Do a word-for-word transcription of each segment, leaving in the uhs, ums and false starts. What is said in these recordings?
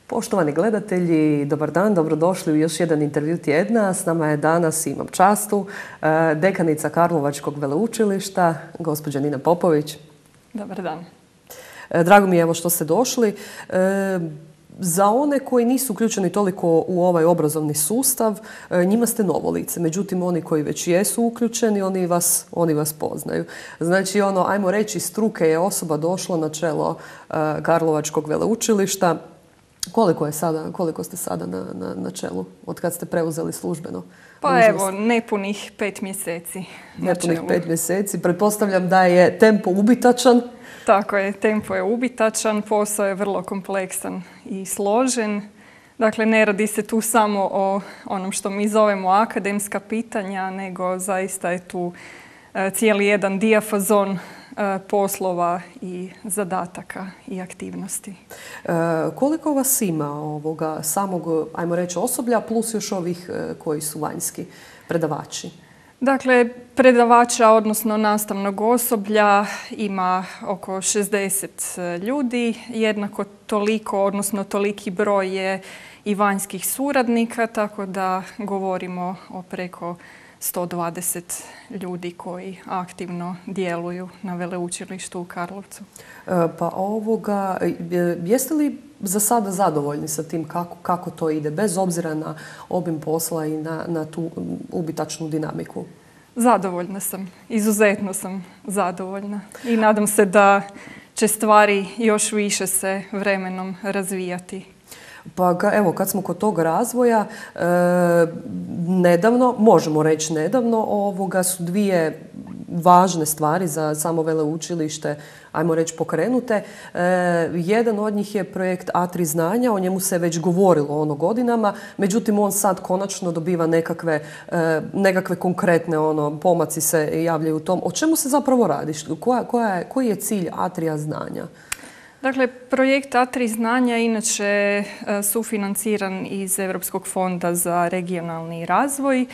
Poštovani gledatelji, dobar dan, dobrodošli u još jedan intervju tjedna. S nama je danas, imam častu, dekanica Karlovačkog veleučilišta, gospođa Nina Popović. Dobar dan. Drago mi je evo što ste došli. Za one koji nisu uključeni toliko u ovaj obrazovni sustav, njima ste novo lice. Međutim, oni koji već jesu uključeni, oni vas, oni vas poznaju. Znači, ono, ajmo reći, struke je osoba došla na čelo Karlovačkog veleučilišta. Koliko je sada, koliko ste sada na, na, na čelu od kad ste preuzeli službeno? Pa dužnost? Evo, nepunih pet mjeseci. Nepunih pet mjeseci. Pretpostavljam da je tempo ubitačan. Tako je, tempo je ubitačan, posao je vrlo kompleksan i složen. Dakle, ne radi se tu samo o onom što mi zovemo akademska pitanja, nego zaista je tu cijeli jedan dijafazon poslova i zadataka i aktivnosti. E, koliko vas ima ovoga samog, ajmo reći, osoblja plus još ovih koji su vanjski predavači? Dakle, predavača, odnosno nastavnog osoblja ima oko šezdeset ljudi. Jednako toliko, odnosno toliki broj je i vanjskih suradnika, tako da govorimo o preko sto dvadeset ljudi koji aktivno djeluju na veleučilištu u Karlovcu. Pa ovoga, jeste li za sada zadovoljni sa tim kako, kako to ide, bez obzira na obim posla i na, na tu ubitačnu dinamiku? Zadovoljna sam, izuzetno sam zadovoljna i nadam se da će stvari još više se vremenom razvijati. Pa evo, kad smo kod tog razvoja, e, nedavno, možemo reći nedavno, ovoga su dvije važne stvari za samo veleučilište, ajmo reći, pokrenute. E, jedan od njih je projekt A tri znanja, o njemu se već govorilo ono godinama, međutim on sad konačno dobiva nekakve, e, nekakve konkretne ono, pomaci se javljaju u tom. O čemu se zapravo radi? Koja, koja je, koji je cilj A tri znanja? Dakle, projekt A tri znanja inače sufinanciran iz Europskog fonda za regionalni razvoj.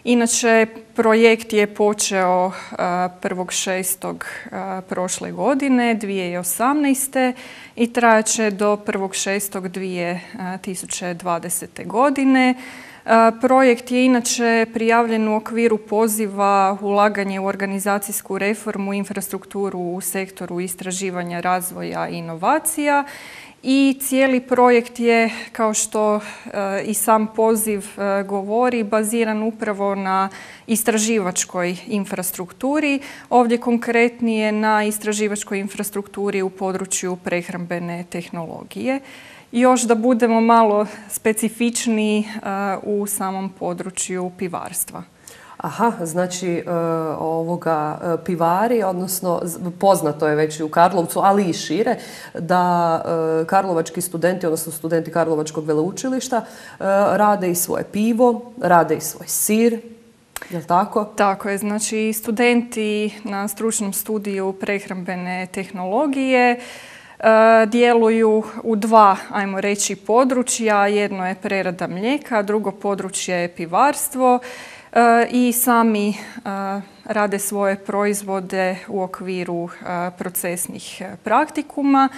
Inače, projekt je počeo prvog šestog prošle godine, dvije tisuće osamnaeste. i trajaće do prvog šestog dvije tisuće dvadesete. godine. Projekt je inače prijavljen u okviru poziva ulaganje u organizacijsku reformu, infrastrukturu u sektoru istraživanja, razvoja i inovacija. I cijeli projekt je, kao što i sam poziv govori, baziran upravo na istraživačkoj infrastrukturi. Ovdje konkretnije na istraživačkoj infrastrukturi u području prehrambene tehnologije. Još da budemo malo specifičniji u samom području pivarstva. Aha, znači ovoga pivari, odnosno poznato je već i u Karlovcu, ali i šire, da karlovački studenti, odnosno studenti Karlovačkog veleučilišta rade i svoje pivo, rade i svoj sir. Je li tako? Tako je. Znači, studenti na stručnom studiju prehrambene tehnologije djeluju u dva, ajmo reći, područja. Jedno je prerada mlijeka, drugo područje je pivarstvo. I sami rade svoje proizvode u okviru procesnih praktikuma.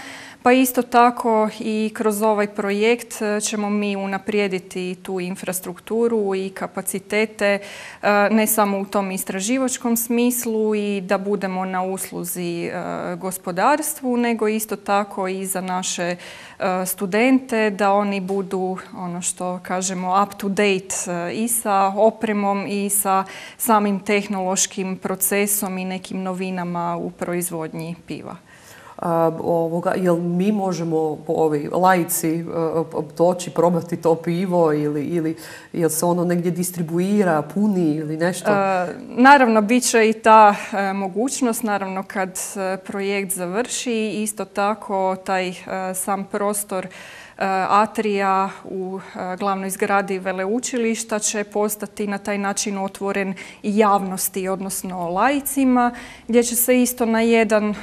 Pa isto tako i kroz ovaj projekt ćemo mi unaprijediti tu infrastrukturu i kapacitete ne samo u tom istraživačkom smislu i da budemo na usluzi gospodarstvu, nego isto tako i za naše studente, da oni budu, ono što kažemo, up to date i sa opremom i sa samim tehnološkim procesom i nekim novinama u proizvodnji piva. Ovoga, jel mi možemo, ovi laici, doći probati to pivo ili, ili jel se ono negdje distribuira, puni ili nešto? E, naravno, bit će i ta e, mogućnost, naravno kad projekt završi. Isto tako taj e, sam prostor Atrija u glavnoj zgradi veleučilišta će postati na taj način otvoren i javnosti, odnosno laicima, gdje će se isto na jedan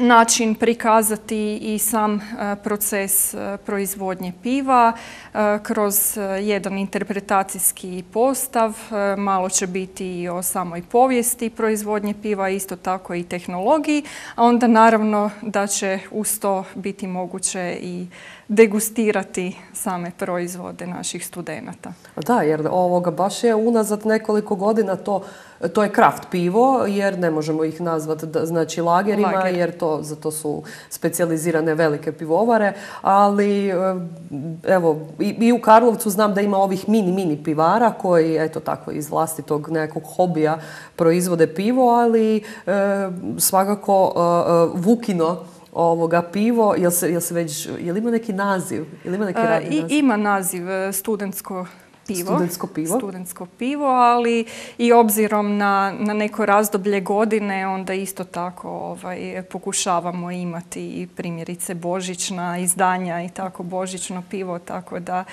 način prikazati i sam proces proizvodnje piva kroz jedan interpretacijski postav. Malo će biti i o samoj povijesti proizvodnje piva, isto tako i tehnologiji, a onda naravno da će uz to biti moguće i degustirati same proizvode naših studenata. Da, jer ovoga baš je unazad nekoliko godina to To je kraft pivo, jer ne možemo ih nazvati znači lagerima, Lager. jer to, za to su specijalizirane velike pivovare, ali evo i, i u Karlovcu znam da ima ovih mini, mini pivara koji eto tako iz vlastitog nekog hobija proizvode pivo, ali e, svakako e, Vukino ovoga pivo, jel se, jel se već, jel ima neki naziv? Jel ima neki radni I, naziv? Ima naziv studentsko pivo. Studentsko pivo. Studentsko pivo, ali i obzirom na, na neko razdoblje godine, onda isto tako ovaj, pokušavamo imati i primjerice božićna izdanja i tako božićno pivo, tako da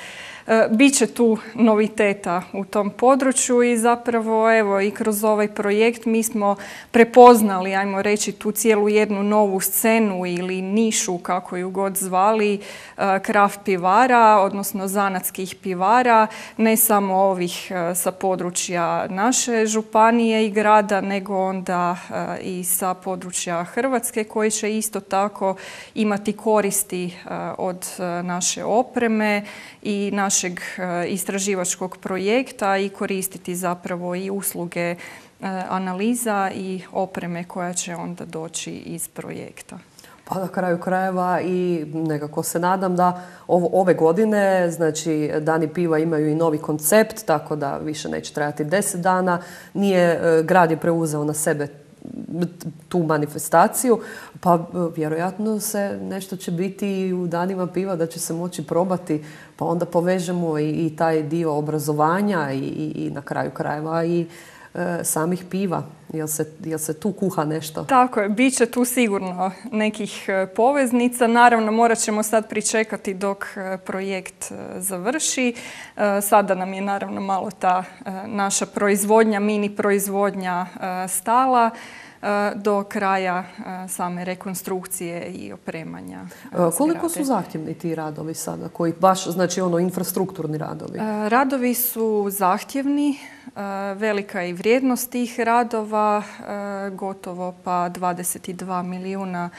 e, bit će tu noviteta u tom području i zapravo evo i kroz ovaj projekt mi smo prepoznali, ajmo reći, tu cijelu jednu novu scenu ili nišu, kako ju god zvali, e, kraft pivara, odnosno zanatskih pivara, ne samo ovih sa područja naše županije i grada, nego onda i sa područja Hrvatske koji će isto tako imati koristi od naše opreme i našeg istraživačkog projekta i koristiti zapravo i usluge analiza i opreme koja će onda doći iz projekta. Pa na kraju krajeva i nekako se nadam da ovo, ove godine, znači Dani piva imaju i novi koncept, tako da više neće trajati deset dana. Nije, grad je preuzeo na sebe tu manifestaciju, pa vjerojatno se nešto će biti u danima piva da će se moći probati, pa onda povežemo i, i taj dio obrazovanja i, i, i na kraju krajeva i samih piva. Jel se, jel se tu kuha nešto? Tako je, bit će tu sigurno nekih poveznica. Naravno, morat ćemo sad pričekati dok projekt završi. Sada nam je naravno malo ta naša proizvodnja, mini proizvodnja stala do kraja same rekonstrukcije i opremanja zgrade. Koliko su zahtjevni ti radovi sada, koji baš, znači ono, infrastrukturni radovi? Radovi su zahtjevni, velika je i vrijednost tih radova, gotovo pa dvadeset dva milijuna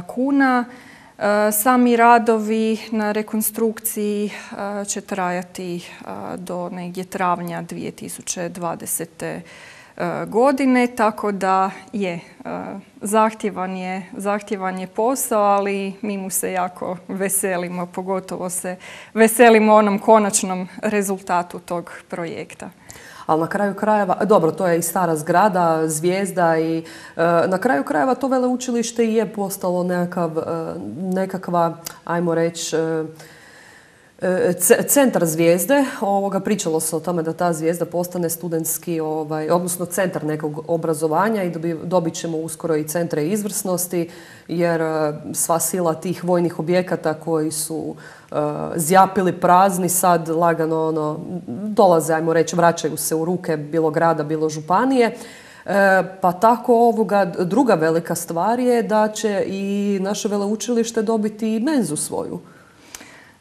kuna. Sami radovi na rekonstrukciji će trajati do negdje travnja dvije tisuće dvadesete godine, tako da je zahtjevan je, zahtjevan je posao, ali mi mu se jako veselimo, pogotovo se veselimo onom konačnom rezultatu tog projekta. Ali na kraju krajeva, dobro, to je i stara zgrada, zvijezda i e, na kraju krajeva to veleučilište i je postalo nekakav, e, nekakva, ajmo reći, e, centar zvijezde. Ovoga, pričalo se o tome da ta zvijezda postane studentski, ovaj, odnosno centar nekog obrazovanja i dobi, dobit ćemo uskoro i centre izvrsnosti, jer sva sila tih vojnih objekata koji su uh, zjapili prazni sad lagano ono, dolaze, ajmo reći, vraćaju se u ruke bilo grada, bilo županije. E, pa tako ovoga, druga velika stvar je da će i naše veleučilište dobiti i menzu svoju.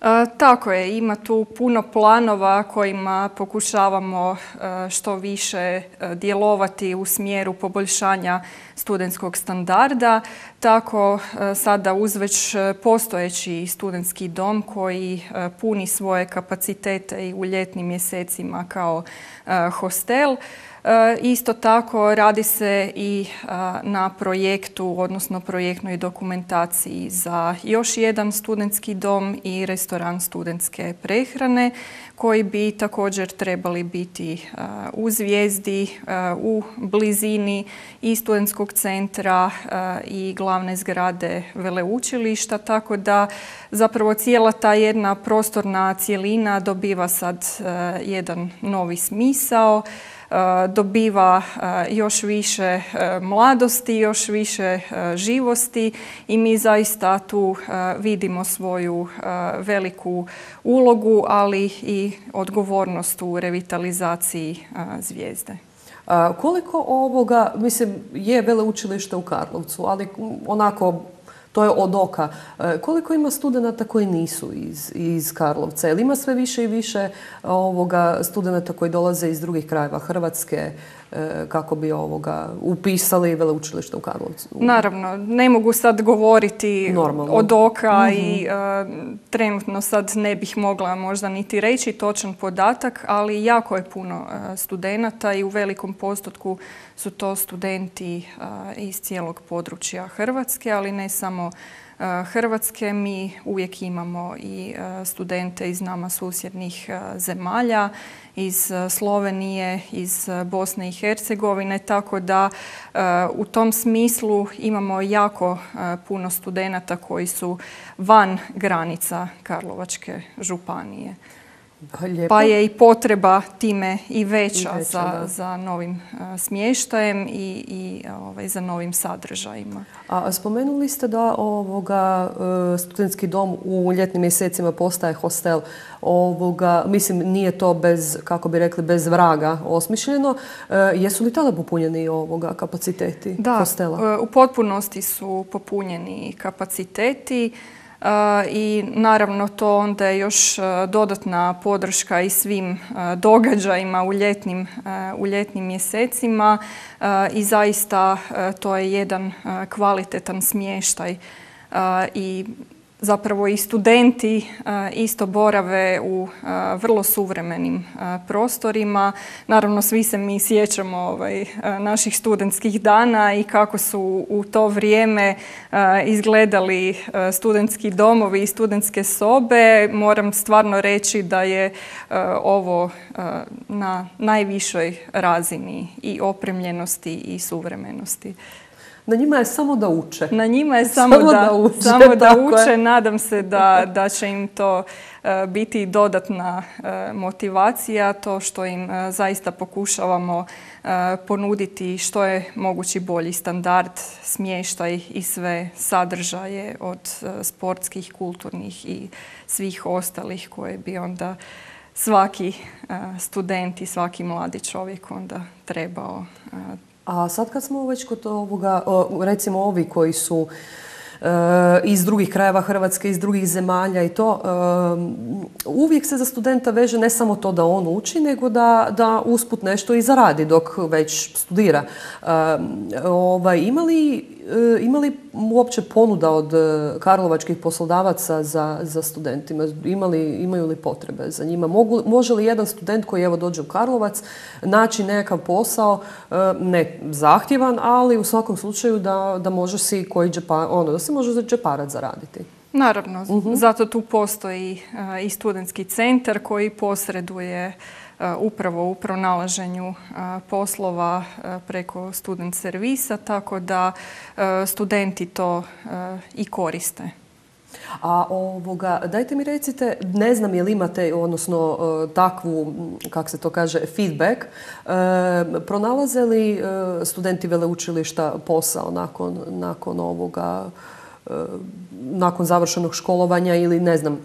E, tako je, ima tu puno planova kojima pokušavamo e, što više e, djelovati u smjeru poboljšanja studentskog standarda. Tako e, sada uz već postojeći studentski dom koji e, puni svoje kapacitete i u ljetnim mjesecima kao e, hostel. E, isto tako radi se i a, na projektu, odnosno projektnoj dokumentaciji za još jedan studentski dom i restoran studentske prehrane koji bi također trebali biti a, u Zvijezdi, a, u blizini i studentskog centra a, i glavne zgrade veleučilišta, tako da zapravo cijela ta jedna prostorna cjelina dobiva sad a, jedan novi smisao. Dobiva još više mladosti, još više živosti i mi zaista tu vidimo svoju veliku ulogu, ali i odgovornost u revitalizaciji Zvijezde. Koliko ovoga, mislim, je veleučilište u Karlovcu, ali onako, to je od oka. Koliko ima studenata koji nisu iz, iz Karlovca? Jel ima sve više i više ovoga studenata koji dolaze iz drugih krajeva Hrvatske kako bi ovoga upisali veleučilište u Karlovcu? Naravno, ne mogu sad govoriti Normalno. od oka mm-hmm. i uh, trenutno sad ne bih mogla možda niti reći točan podatak, ali jako je puno uh, studenata i u velikom postotku su to studenti uh, iz cijelog područja Hrvatske, ali ne samo Hrvatske. Mi uvijek imamo i studente iz nama susjednih zemalja, iz Slovenije, iz Bosne i Hercegovine, tako da u tom smislu imamo jako puno studenata koji su van granica Karlovačke županije. Lijepo. Pa je i potreba time i veća, I veća za, da. za novim uh, smještajem i, i ovaj, za novim sadržajima. A spomenuli ste da ovoga, uh, studentski dom u ljetnim mjesecima postaje hostel. Ovoga, mislim, nije to bez, kako bi rekli, bez vraga osmišljeno. Uh, jesu li tada popunjeni ovoga kapaciteti da, hostela? Da, u potpunosti su popunjeni kapaciteti. Uh, I naravno to onda je još uh, dodatna podrška i svim uh, događajima u ljetnim, uh, u ljetnim mjesecima uh, i zaista uh, to je jedan uh, kvalitetan smještaj uh, i zapravo i studenti isto borave u vrlo suvremenim prostorima. Naravno, svi se mi sjećamo ovaj, naših studentskih dana i kako su u to vrijeme izgledali studentski domovi i studentske sobe. Moram stvarno reći da je ovo na najvišoj razini i opremljenosti i suvremenosti. Na njima je samo da uče. Na njima je samo, samo da, da uče. Samo da uče. Nadam se da, da će im to uh, biti dodatna uh, motivacija, to što im uh, zaista pokušavamo uh, ponuditi što je mogući bolji standard, smještaj i sve sadržaje od uh, sportskih, kulturnih i svih ostalih koje bi onda svaki uh, student i svaki mladi čovjek onda trebao uh, A sad kad smo već kod ovoga, recimo ovi koji su e, iz drugih krajeva Hrvatske, iz drugih zemalja i to, e, uvijek se za studenta veže ne samo to da on uči, nego da, da usput nešto i zaradi dok već studira. E, ovaj, ima li, e, ima li uopće ponuda od karlovačkih poslodavaca za, za studentima? Ima li, imaju li potrebe za njima? Mogu, može li jedan student koji evo dođe u Karlovac naći nekakav posao, ne zahtjevan, ali u svakom slučaju da, da može si koji džepa, ono, da se može za džeparac zaraditi? Naravno, uh-huh. zato tu postoji uh, i studentski centar koji posreduje uh, upravo u pronalaženju uh, poslova uh, preko student servisa, tako da uh, studenti to uh, i koriste. A ovoga, dajte mi recite, ne znam je li imate, odnosno takvu, kako se to kaže, feedback, pronalaze li studenti veleučilišta posao nakon, nakon ovoga, nakon završenog školovanja ili ne znam,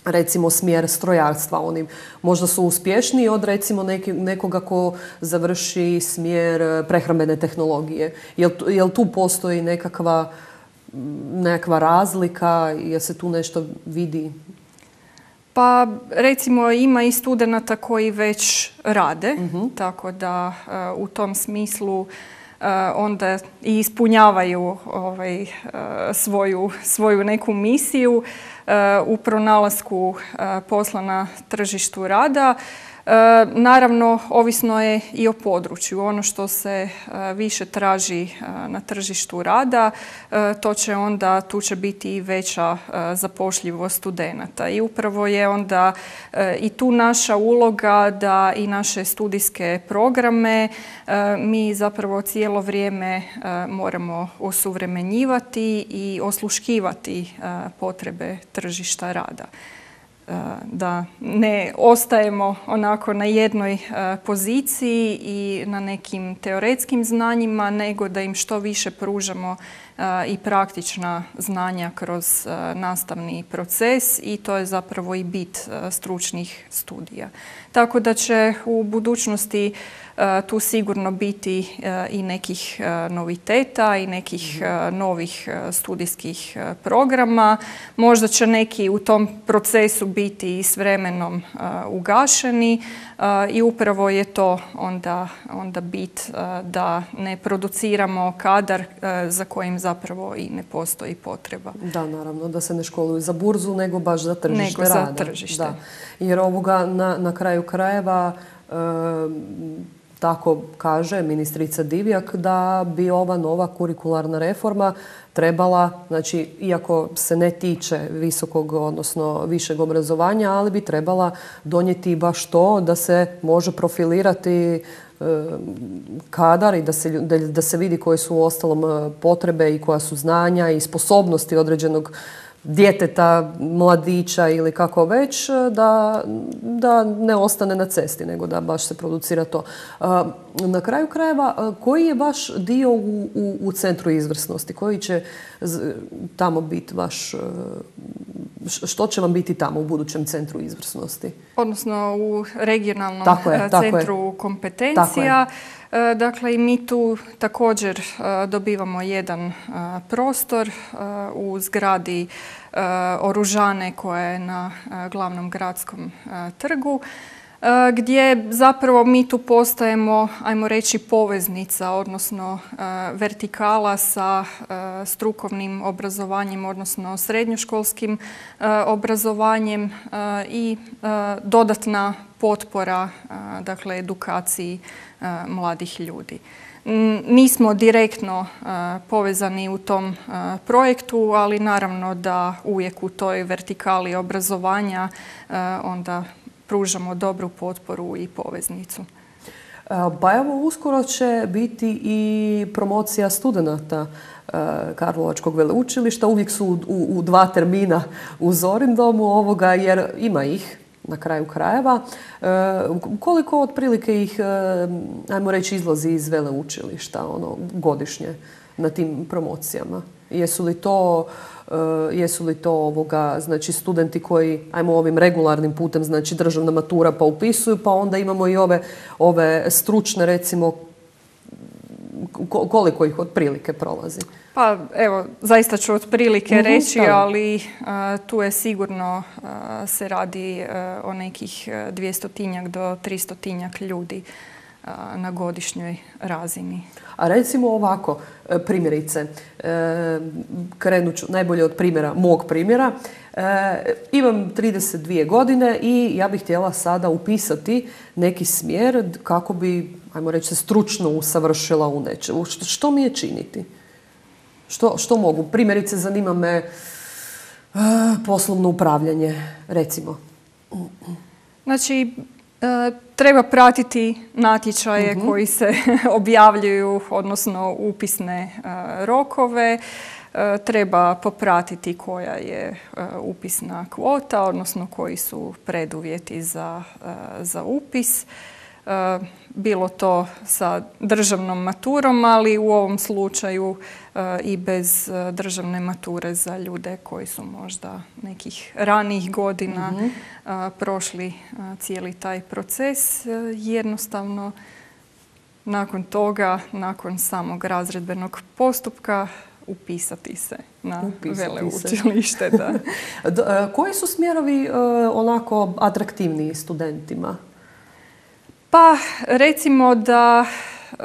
recimo smjer strojarstva, oni možda su uspješniji od recimo neki, nekoga ko završi smjer prehrambene tehnologije. Jel, jel tu postoji nekakva nekakva razlika, jel se tu nešto vidi? Pa recimo ima i studenata koji već rade, uh-huh. tako da uh, u tom smislu uh, onda i ispunjavaju ovaj, uh, svoju, svoju neku misiju uh, u pronalasku uh, posla na tržištu rada. E, naravno, ovisno je i o području. Ono što se e, više traži e, na tržištu rada, e, to će onda, tu će biti i veća e, zapošljivost studenata. I upravo je onda e, i tu naša uloga da i naše studijske programe e, mi zapravo cijelo vrijeme e, moramo osuvremenjivati i osluškivati e, potrebe tržišta rada. da ne ostajemo onako na jednoj poziciji i na nekim teoretskim znanjima, nego da im što više pružamo i praktična znanja kroz nastavni proces i to je zapravo i bit stručnih studija. Tako da će u budućnosti tu sigurno biti i nekih noviteta i nekih novih studijskih programa. Možda će neki u tom procesu biti i s vremenom ugašeni i upravo je to onda, onda bit da ne produciramo kadar za kojim zapravo i ne postoji potreba. Da, naravno, da se ne školuju za burzu, nego baš za tržište nego rada. Za tržište. Da. Jer ovoga na, na kraju krajeva e, tako kaže ministrica Divjak da bi ova nova kurikularna reforma trebala, znači iako se ne tiče visokog, odnosno višeg obrazovanja, ali bi trebala donijeti baš to da se može profilirati kadar i da se, da, da se vidi koje su u ostalom potrebe i koja su znanja i sposobnosti određenog djeteta, mladića ili kako već, da, da ne ostane na cesti, nego da baš se producira to. Na kraju krajeva, koji je vaš dio u, u, u centru izvrsnosti? Koji će tamo biti vaš, što će vam biti tamo u budućem centru izvrsnosti? Odnosno u regionalnom tako je, centru tako kompetencija. Dakle, i mi tu također dobivamo jedan prostor u zgradi Oružane koja je na glavnom gradskom trgu, gdje zapravo mi tu postajemo, ajmo reći, poveznica, odnosno vertikala sa strukovnim obrazovanjem, odnosno srednjoškolskim obrazovanjem i dodatna potpora, dakle, edukaciji mladih ljudi. Nismo direktno povezani u tom projektu, ali naravno da uvijek u toj vertikali obrazovanja onda pružamo dobru potporu i poveznicu. Pa evo, uskoro će biti i promocija studenata Karlovačkog veleučilišta. Uvijek su u, u, u dva termina u Zorindomu ovoga, jer ima ih na kraju krajeva. E, koliko otprilike ih, ajmo reći, izlazi iz veleučilišta ono, godišnje na tim promocijama? Jesu li to, uh, jesu li to ovoga, znači, studenti koji, ajmo ovim regularnim putem, znači državna matura pa upisuju, pa onda imamo i ove, ove stručne, recimo, koliko ih otprilike prolazi? Pa evo, zaista ću otprilike mm-hmm, reći, da. ali uh, tu je sigurno uh, se radi uh, o nekih dvjestotinjak do tristotinjak ljudi uh, na godišnjoj razini. A recimo ovako, primjerice, krenut ću najbolje od primjera, mog primjera. Imam trideset dvije godine i ja bih htjela sada upisati neki smjer kako bi, ajmo reći, se stručno usavršila u nečemu. Što, što mi je činiti? Što, što mogu? Primjerice, zanima me poslovno upravljanje, recimo. Znači, treba pratiti natječaje uh-huh. koji se objavljuju, odnosno upisne rokove. Treba popratiti koja je upisna kvota, odnosno koji su preduvjeti za, za upis. Bilo to sa državnom maturom, ali u ovom slučaju i bez državne mature za ljude koji su možda nekih ranijih godina mm-hmm. prošli cijeli taj proces. Jednostavno, nakon toga, nakon samog razredbenog postupka, upisati se na upisati veleučilište. Se. Da. Koji su smjerovi onako atraktivniji studentima? Pa recimo da e,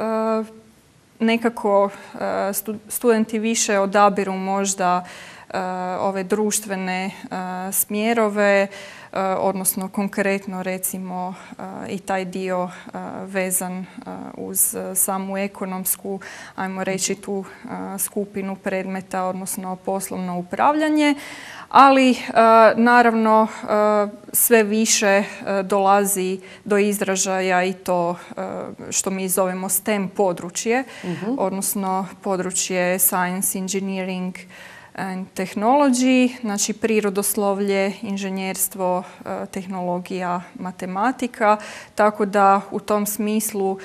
nekako e, studenti više odabiru možda e, ove društvene e, smjerove, e, odnosno konkretno recimo e, i taj dio e, vezan e, uz samu ekonomsku, ajmo reći tu e, skupinu predmeta, odnosno poslovno upravljanje. Ali naravno sve više dolazi do izražaja i to što mi zovemo STEM područje, uh-huh. odnosno područje science, engineering, and Technology, znači prirodoslovlje, inženjerstvo, tehnologija, matematika, tako da u tom smislu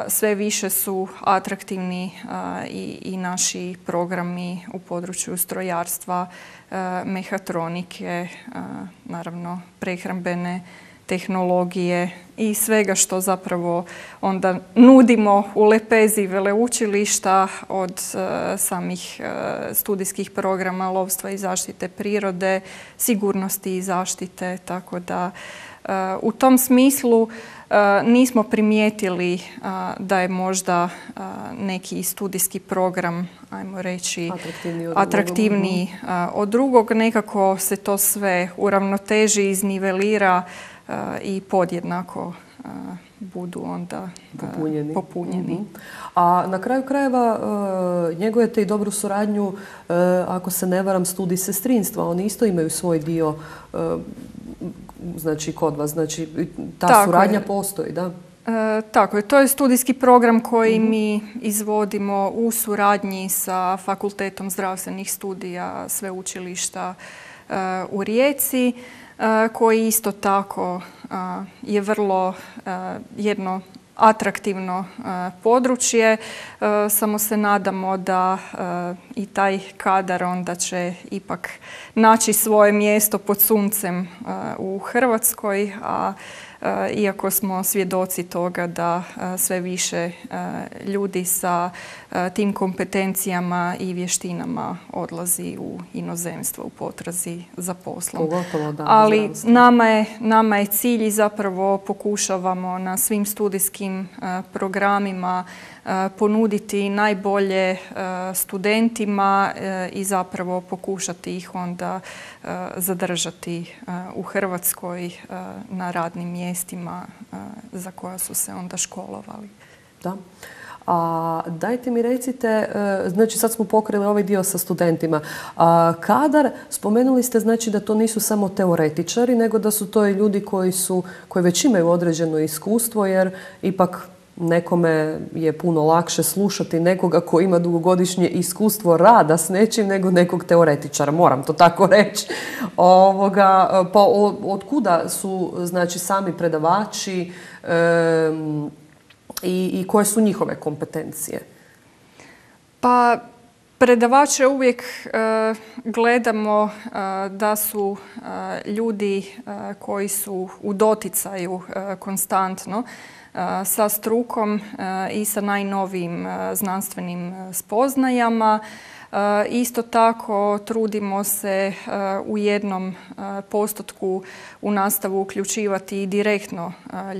sve više su atraktivni i, i naši programi u području strojarstva, mehatronike, naravno prehrambene tehnologije i svega što zapravo onda nudimo u lepezi veleučilišta, od uh, samih uh, studijskih programa lovstva i zaštite prirode, sigurnosti i zaštite, tako da uh, u tom smislu uh, nismo primijetili uh, da je možda uh, neki studijski program, ajmo reći, atraktivniji od, atraktivniji, uh, od drugog. Nekako se to sve uravnoteži, iznivelira i podjednako budu onda popunjeni. popunjeni. Mm-hmm. A na kraju krajeva njegujete i dobru suradnju, ako se ne varam, studij sestrinstva. Oni isto imaju svoj dio, znači kod vas. Znači ta Tako suradnja je. postoji, da? E, tako je. To je studijski program koji mm-hmm. mi izvodimo u suradnji sa Fakultetom zdravstvenih studija Sveučilišta e, u Rijeci, koji isto tako je vrlo jedno atraktivno područje. Samo se nadamo da i taj kadar onda će ipak naći svoje mjesto pod suncem u Hrvatskoj, a iako smo svjedoci toga da sve više ljudi sa tim kompetencijama i vještinama odlazi u inozemstvo u potrazi za poslom. Pogotovo, da, ali nama je, nama je cilj i zapravo pokušavamo na svim studijskim programima ponuditi najbolje studentima i zapravo pokušati ih onda zadržati u Hrvatskoj na radnim mjestima za koja su se onda školovali. Da. A dajte mi recite, znači sad smo pokrili ovaj dio sa studentima. A kadar, spomenuli ste znači da to nisu samo teoretičari, nego da su to i ljudi koji su, koji već imaju određeno iskustvo, jer ipak nekome je puno lakše slušati nekoga koji ima dugogodišnje iskustvo rada s nečim nego nekog teoretičara, moram to tako reći. Ovoga, pa od, od kuda su znači sami predavači e, i, i koje su njihove kompetencije? Pa predavače uvijek e, gledamo e, da su e, ljudi e, koji su u doticaju e, konstantno sa strukom i sa najnovijim znanstvenim spoznajama. Isto tako trudimo se u jednom postotku u nastavu uključivati i direktno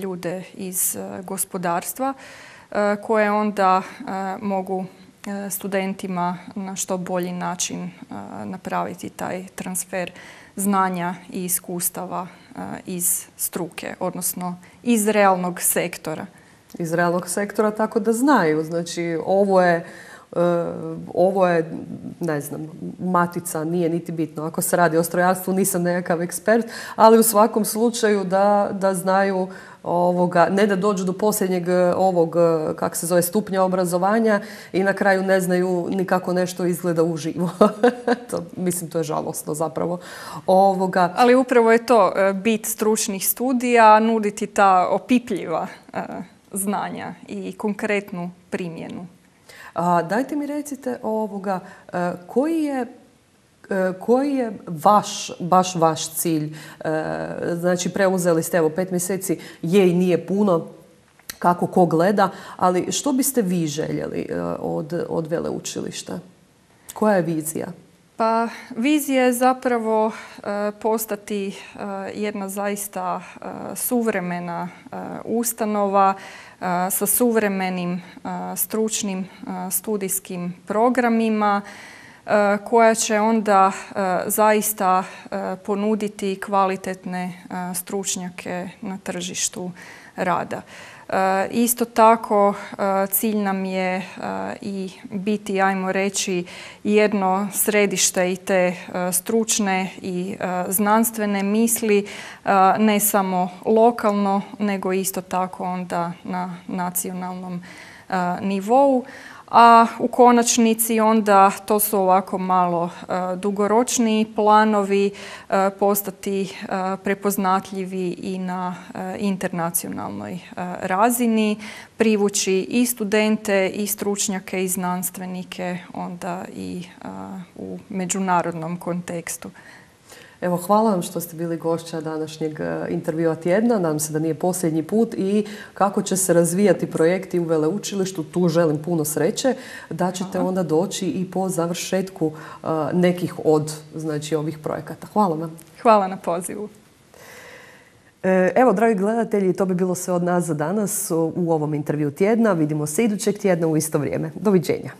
ljude iz gospodarstva koje onda mogu studentima na što bolji način napraviti taj transfer znanja i iskustava iz struke, odnosno iz realnog sektora. Iz realnog sektora, tako da znaju. Znači, ovo je, uh, ovo je, ne znam, matica, nije niti bitno. Ako se radi o strojarstvu, nisam nekakav ekspert, ali u svakom slučaju da, da znaju ovoga, ne da dođu do posljednjeg ovog, kak se zove, stupnja obrazovanja i na kraju ne znaju ni kako nešto izgleda uživo. to, mislim, to je žalosno zapravo. Ovoga. Ali upravo je to bit stručnih studija, nuditi ta opipljiva uh, znanja i konkretnu primjenu. A, dajte mi recite ovoga, uh, koji je Koji je vaš, baš vaš cilj? Znači, preuzeli ste, evo, pet mjeseci je i nije puno, kako ko gleda, ali što biste vi željeli od, od veleučilišta? Koja je vizija? Pa, vizija je zapravo postati jedna zaista suvremena ustanova sa suvremenim stručnim studijskim programima, koja će onda zaista ponuditi kvalitetne stručnjake na tržištu rada. Isto tako cilj nam je i biti, ajmo reći, jedno središte i te stručne i znanstvene misli, ne samo lokalno, nego isto tako onda na nacionalnom nivou. a u konačnici onda to su ovako malo dugoročniji planovi, postati prepoznatljivi i na internacionalnoj razini, privući i studente i stručnjake i znanstvenike onda i u međunarodnom kontekstu. Evo, hvala vam što ste bili gošća današnjeg intervjua tjedna. Nadam se da nije posljednji put i kako će se razvijati projekti u veleučilištu. Tu želim puno sreće da ćete onda doći i po završetku nekih od znači, ovih projekata. Hvala vam. Hvala na pozivu. Evo, dragi gledatelji, to bi bilo sve od nas za danas u ovom intervju tjedna. Vidimo se idućeg tjedna u isto vrijeme. Doviđenja.